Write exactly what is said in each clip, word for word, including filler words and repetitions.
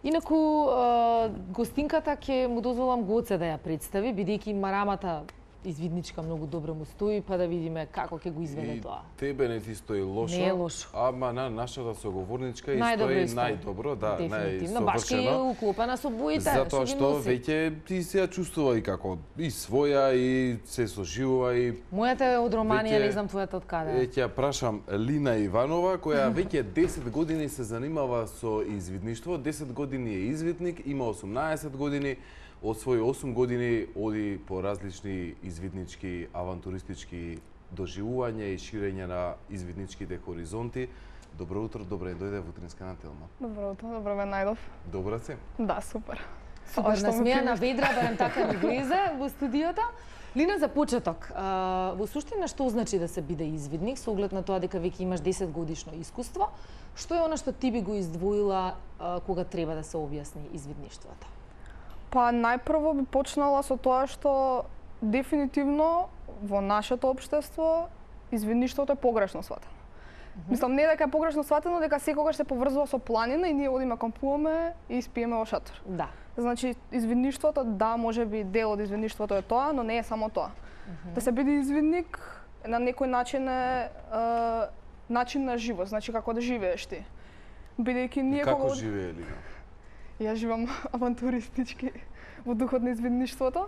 Инаку, гостинката ќе му дозволам Гоце да ја представи, бидејќи марамата извидничка многу добро му стои, па да видиме како ќе го изведе и тоа. Тебе не ти стои лошо. Не е лошо. Ама на нашата соговорничка и најдобро стои најдобро, да, најсовршено. Башки е уклопена со боите, затоа што веќе ти се ја чувствува и како и своја и се соживува и мојата е од Романија, не знам твојата од каде. Ќе ја прашам Лина Иванова, која веќе десет години се занимава со извидништво, десет години е извидник, има осумнаесет години. Од своји осум години оди по различни извиднички, авантуристички доживувања и ширење на извидничките хоризонти. Добро утро, добре дојде во Утринска на Телма. Добро утро, добро ме најдов. Добра си? Да, супер. Супер, насмејана, ведра, барем така ми влезе во студиото. Лина, за почеток, во суштина што значи да се биде извидник, со оглед на тоа дека веќе имаш десет годишно искуство, што е она што ти би го издвоила кога треба да се објасни извидништвото? Па најпрво би почнала со тоа што дефинитивно во нашето општество извидништвото е погрешно сватено. Mm -hmm. Мислам, не дека е погрешно сватено, дека секогаш се поврзува со планина и ние одиме кампуваме и спиеме во шатор. Да. Значи, извидништвото, да, може би дел од извидништвото е тоа, но не е само тоа. Mm -hmm. Да се биде извидник на некој начин е, е начин на живот, значи како да живееш ти. Бидејќи ние како кога... живее Лина? Ја живам авантуристички во духот на извидништвото.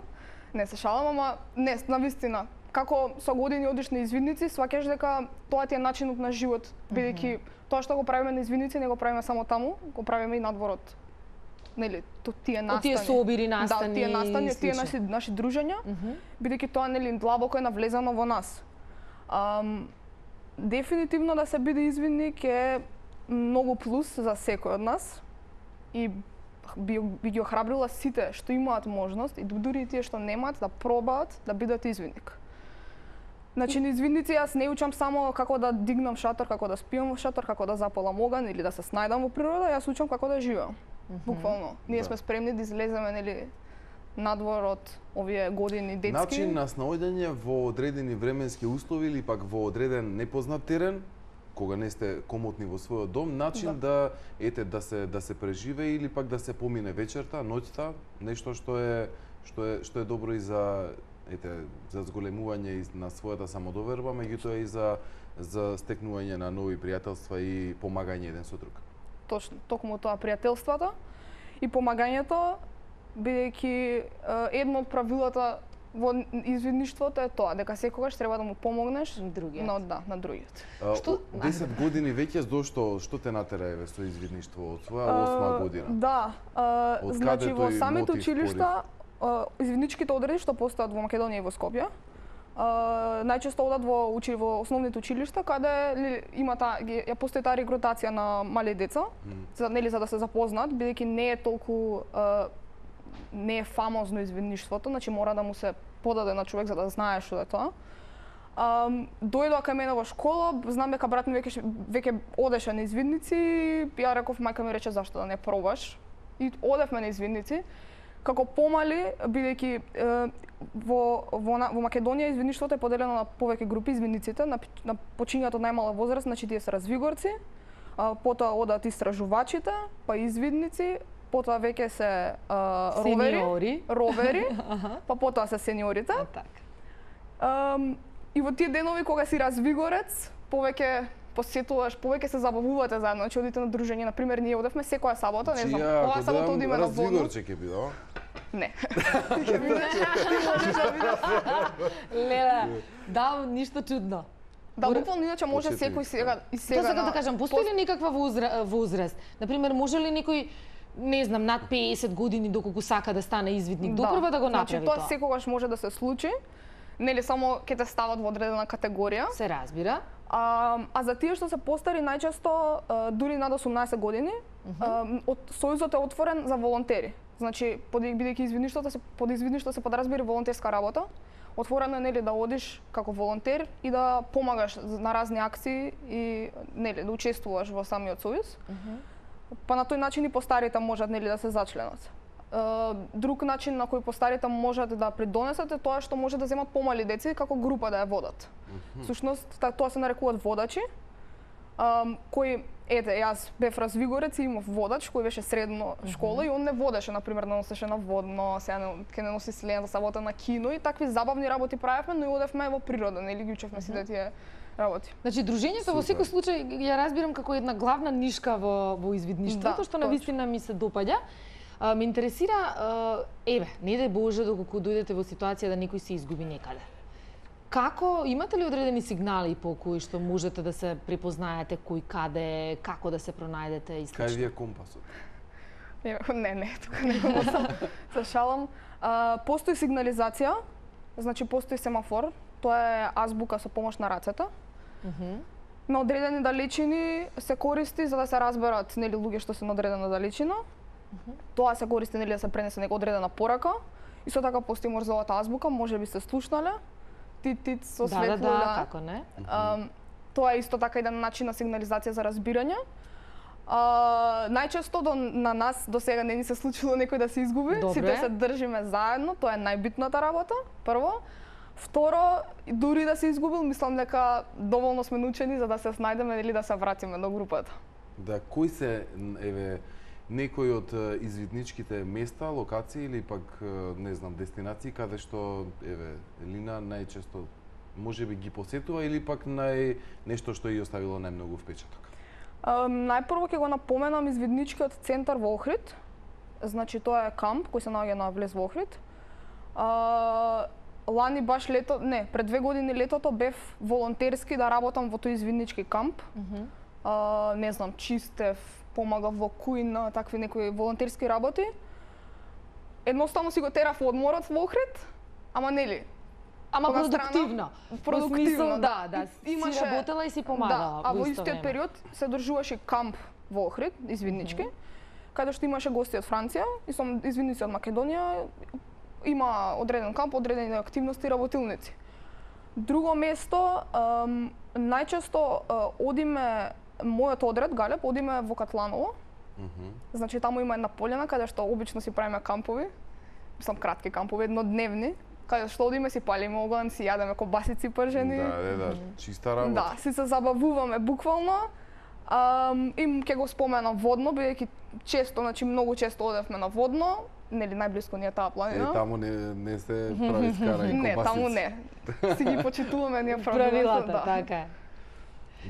Не се шалам, ама не, навистина. Како со години одиш на извидници, сваќаш дека тоа ти е начинот на живот, бидејќи mm -hmm. тоа што го правиме на извидници не го правиме само таму, го правиме и надворот. Нели, то тие настани. Тие собири, настани. Да, тие настани, тие наши наши дружења, mm -hmm. бидејќи тоа нели длабоко е навлезано во нас. Ам, дефинитивно да се биде извидник е многу плюс за секој од нас и би, би ги охрабрила сите што имаат можност и дури и тие што немаат да пробаат да бидат извидник. Значи, на извидници јас не учам само како да дигнам шатор, како да спијам во шатор, како да запалам оган или да се снајдам во природа, јас учам како да живеам. Mm -hmm. Буквално. Ние да. сме спремни да излеземе, нели, надвор од овие години детски. Начин на снаоѓање во одредени временски услови или пак во одреден непознат терен, кога не сте комотни во својот дом, начин да, да ете да се да се преживее или пак да се помине вечерта, ноќта, нешто што е што е што е добро и за ете за зголемување и на својата самодоверба, меѓутоа и за за стекнување на нови пријателства и помагање еден со друг. Точно, токму тоа пријателството и помагањето, бидејќи едно од правилата во извидништвото е тоа, дека секогаш треба да му помогнеш другиот. Но да, на другиот. Што десет години веќе зошто што те натера еве со извидништво од своја осма година? Да, а, значи во самите училишта, извидничките одреди што постојат во Македонија и во Скопје, Uh, најчесто одат во учи во основните училишта каде има таа ја постои таа регрутација на мали деца, mm. за нели за да се запознаат, бидејќи не е толку uh, не е фамозно извидништвото, значи мора да му се подаде на човек за да знае што е тоа. Um, дојдоа кај мене во школа, знам дека брат ми веќе веќе одеше на извидници, ја реков мајка ми рече зашто да не пробаш. И одевме на извидници. Како помали, бидејќи во, во, во Македонија извидништвото е поделено на повеќе групи извидниците, на, на почињаат од најмала возраст, значи тие се развигорци, а, потоа одат истражувачите, па извидници, потоа веќе се а, ровери, ровери, па потоа се сениорите. А, и во тие денови кога си развигорец, повеќе посетуваш, повеќе се забавувате заедно, значи одите на дружење, на пример ние одевме секоја сабота, не знам, оваа сабота одиме на водно. Развигорче ќе биде, а? Не. Лела, да, ништо чудно. Да, буквално иначе може секој сега и сега. Тоа сакам да кажам, постои ли никаква возраст? Например, може ли некој не знам, над песет години доколку сака да стане извидник, допрва да го направи тоа? Значи, тоа секогаш може да се случи. Нели само ќе те стават во одредена категорија. Се разбира. А, а за тие што се постари најчесто дури над осумнаесет години, uh -huh. од сојузот е отворен за волонтери. Значи, бидејќи извидништвото се под извидништво се подразбира волонтерска работа, отворено е нели да одиш како волонтер и да помагаш на разни акции и нели да учествуваш во самиот сојуз. Uh -huh. Па на тој начин и постарите можат нели да се зачленат. Друг начин на кој постарите можат да придонесат е тоа што може да земат помали деца како група да ја водат. Mm -hmm. Сушност, тоа се нарекуваат водачи, кои ете, јас бев развигорец и имав водач кој беше средно школа mm -hmm. и он не водеше, например, да носеше на водно, сега не, ке не носи слен, да сабота на кино и такви забавни работи правевме, но и одевме во природа, нели ги учевме mm -hmm. сите тие работи. Значи дружењето во секој случај ја разбирам како една главна нишка во во извидништвото, да, што навистина ми се допаѓа. А, ме интересира, еве, не дај Боже доколку дојдете во ситуација да некој се изгуби некаде. Како, имате ли одредени сигнали по кои што можете да се препознаете кој каде, како да се пронајдете и слично? Кај ви е компасот? Не, не, тука не го носам. Се шалам. А, постои сигнализација, значи постои семафор, тоа е азбука со помош на рацете. Mm -hmm. На одредени далечини се користи за да се разберат нели луѓе што се на одредена далечина. Mm -hmm. Тоа се користи нели да се пренесе нека одредена порака. Исто така постои морзовата азбука, можеби сте слушнале. Тит-тит со светло, да, да, да, како не. А, тоа е исто така еден начин на сигнализација за разбирање. А, најчесто до, на нас до сега не ни се случило некој да се изгуби. Добре. Сите се држиме заедно, тоа е најбитната работа, прво. Второ, дури да се изгубил, мислам дека доволно сме научени за да се снајдеме или да се вратиме до групата. Да, кои се, еве, некои од извидничките места, локации или пак, не знам, дестинации каде што, еве, Лина најчесто можеби ги посетува или пак нај нешто што ја оставило најмногу впечаток? Uh, најпрво ќе го напоменам извидничкиот центар во Охрид. Значи тоа е камп кој се наоѓа на влез во Охрид. Uh, лани баш лето, не, пред две години летото бев волонтерски да работам во тој извиднички камп. Mm -hmm. uh, не знам, чистев, помагав во кујна, такви некои волонтерски работи. Едноставно си го терав одморот во Охрид, ама нели? Ама продуктивно. Продуктивно, да, да, да. Имаше... Си работела и си помагала. Да, а во истиот период се одржуваше камп во Охрид, извиднички, mm -hmm. каде што имаше гости од Франција и со извидници од Македонија. Има одреден камп, одредени активности и работилници. Друго место, ем, најчесто е, одиме, мојот одред, Галеб, одиме во Катланово. Mm -hmm. Значи, таму има една полјана каде што обично си правиме кампови, мислам кратки кампови, еднодневни, каде што одиме си палиме оган, си јадеме кобасици пржени. Да, да, да, чиста работа. Да, си се забавуваме буквално. Um, и ќе го споменам водно, бидејќи често, значи многу често одевме на водно, нели најблиско ни е таа планина. Е, таму не, не се прави скара и кобасици. Не, таму не. Си ги почитуваме ние правилата, да. Така е.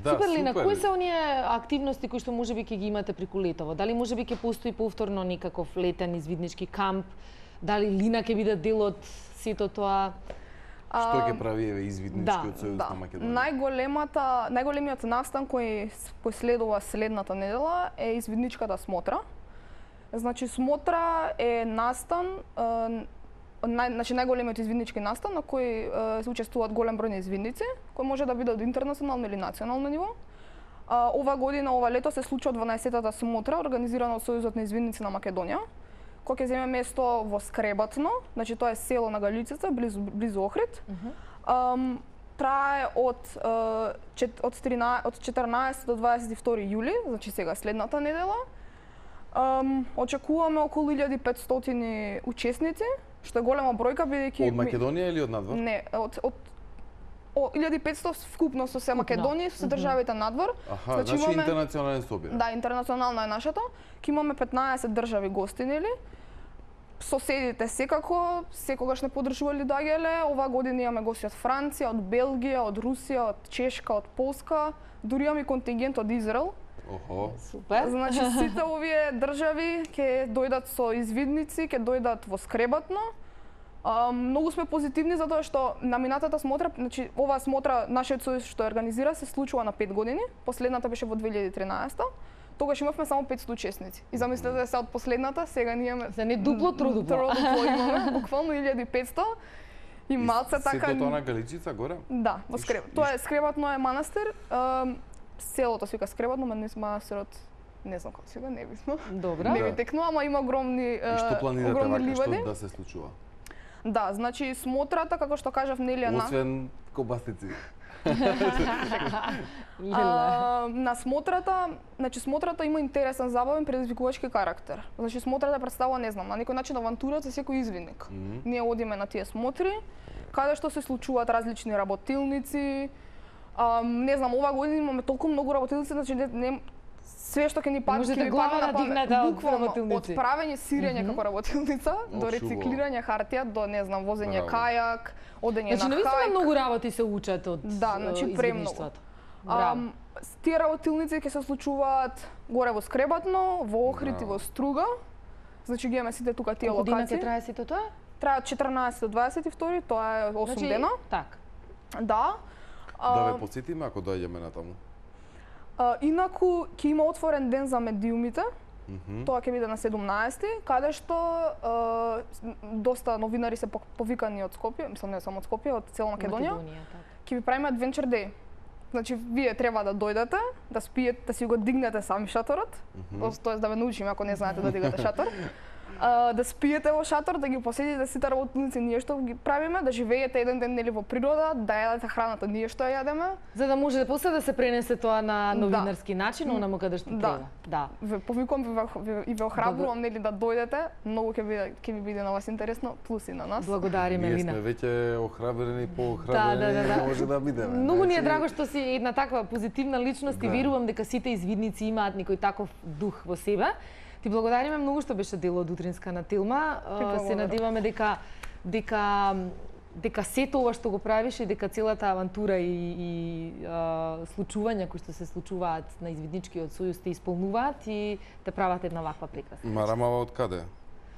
Да, супер, Лина, супер. кои се оние активности кои што можеби ќе ги имате преку летово? Дали можеби ќе постои повторно некаков летен извиднички камп? Дали Лина ќе биде дел од сето тоа? Што ќе прави еве извидничкиот сојуз да, на Македонија? Најголемата, најголемиот настан кој последува следната недела е извидничката смотра. Значи смотра е настан, е, нај, значи најголемиот извиднички настан на кој е, се учествуваат голем број на извидници, кој може да биде од интернационално или национално ниво. А, ова година, ова лето се случува дванаесеттата смотра организирана од Сојузот на извидници на Македонија, кој ќе земе место во Скребатно, значи тоа е село на Галичица, близу близу Охрид. Mm -hmm. um, трае од uh, чет, од, од четрнаесет до дваесет и втори јули, значи сега следната недела. Um, очекуваме околу илјада и петстотини учесници, што е голема бројка бидејќи од Македонија или од надвор? Не, од од илјада и петсто вкупно со се Македонија, со државите надвор. Аха, значи, значи имаме... интернационален собир. Да, интернационална е нашата. Ке имаме петнаесет држави гости, нели? Соседите секако, секогаш не подржували доаѓале. Ова година имаме гости од Франција, од Белгија, од Русија, од Чешка, од Полска, дури имаме контингент од Израел. Охо. Супер. Значи сите овие држави ќе дојдат со извидници, ќе дојдат во Скребатно. Uh, многу сме позитивни затоа што на минатата смотра, значи оваа смотра нашиот сојуз што организира се случува на пет години, последната беше во две илјади и тринаесета. Тогаш имавме само петстотини учесници. И замислете се од последната, сега ние имаме за не дупло трудупло. Трудупло имаме, буквално илјада и петсто. И малце така сето тоа на Галичица горе? Да, во Скреб. Тоа е Скребатно е манастир. Uh, селото се вика Скребатно, мене манастирот не знам како се вика, небитно. Добро. Не ми текнува, ама има огромни uh, и што планирате вака ливади. што да се случува? Да, значи смотрата, како што кажав, нели на... Освен кобасици. а, на смотрата, значи смотрата има интересен, забавен, предизвикувачки карактер. Значи смотрата представува, не знам, на некој начин авантура за секој извидник. Mm -hmm. Ние одиме на тие смотри, каде што се случуваат различни работилници. А, не знам, ова година имаме толку многу работилници, значи не, не све што ќе ни падне, Можете ќе ни глава падне на памет. надигната од Буквално, работилници. од правење сирење Мгм. како работилница, до Ошо, рециклирање хартија, до не знам, возење Браво. кајак, одење Значи, на навистина хајк. многу работи се учат од Да, значи, е, премногу. извидништвото. Браво. Ам, тие работилници ќе се случуваат горе во Скребатно, во Охрид и Браво. во Струга. Значи ги имаме сите тука тие Колку дена ќе локации. трае сите тоа? Траат четрнаесет до дваесет и втори, тоа е осум Значи, дена. Так. Да. Да А, ве потсетиме ако доаѓаме на таму. а, инаку ќе има отворен ден за медиумите. Мгм. Тоа ќе биде на седумнаесети, каде што а, доста новинари се пок- повикани од Скопје, мислам не само од Скопје, од цела Македонија. Македонија, така. Ќе ви правиме Adventure Day. Значи, вие треба да дојдете, да спиете, да си го дигнете сами шаторот, Мгм. тоест да ве научиме ако не знаете да дигате шатор. А, да спиете во шатор, да ги посетите сите работилници ние што ги правиме, да живеете еден ден нели во природа, да јадете храната ние што ја јадеме. За да може после да се пренесе тоа на Да. новинарски начин, онаму каде што Да. треба. Да. Ве повикувам ви, ве- и ве охрабрувам нели да дојдете, многу ќе биде ќе ви биде на вас интересно, плюс и на нас. Благодариме, Ние Лина. сме веќе охрабрени, Да, поохрабрени, да, да, да. може да бидеме. Многу ни е Значи, драго што си една таква позитивна личност и Да. верувам дека сите извидници имаат некој таков дух во себе. Ти благодариме многу што беше дел од утринска на Тилма. Ти А, Се благодарам. надеваме дека дека дека сето ова што го правиш и дека целата авантура и, и а, случувања кои што се случуваат на извидничкиот сојуз те исполнуваат и те прават една ваква прекрасна. Марамава од каде?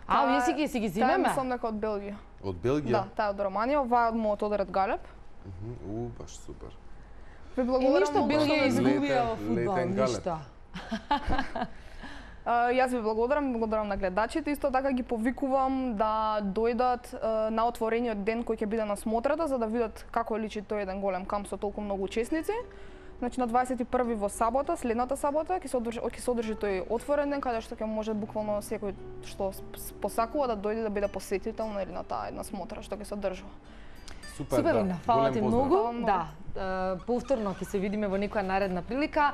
А, вие си ги си ги Таа зимеме? мислам дека од Белгија. Од Белгија? Да, таа е од Романија, оваа од мојот Одерет Галеб. Мгм. У, баш супер. Ви И благодарам ништо многу што Белгија ме изгубија во Летен- фудбал, летен галеб. ништо. А, Јас ви благодарам, благодарам на гледачите, исто така ги повикувам да дојдат а, на отворениот ден кој ќе биде на смотрата за да видат како личи тој еден голем камп со толку многу учесници. Значи на дваесет и први во сабота, следната сабота ќе се одржи ќе се одржи тој отворен ден каде што ќе може буквално секој што с- посакува да дојде да биде посетител нели на таа една смотра што ќе се одржува. Супер, Супер, да. Лина, фала Голем ти поздрав. многу. Фала многу. Да, е, повторно ќе се видиме во некоја наредна прилика.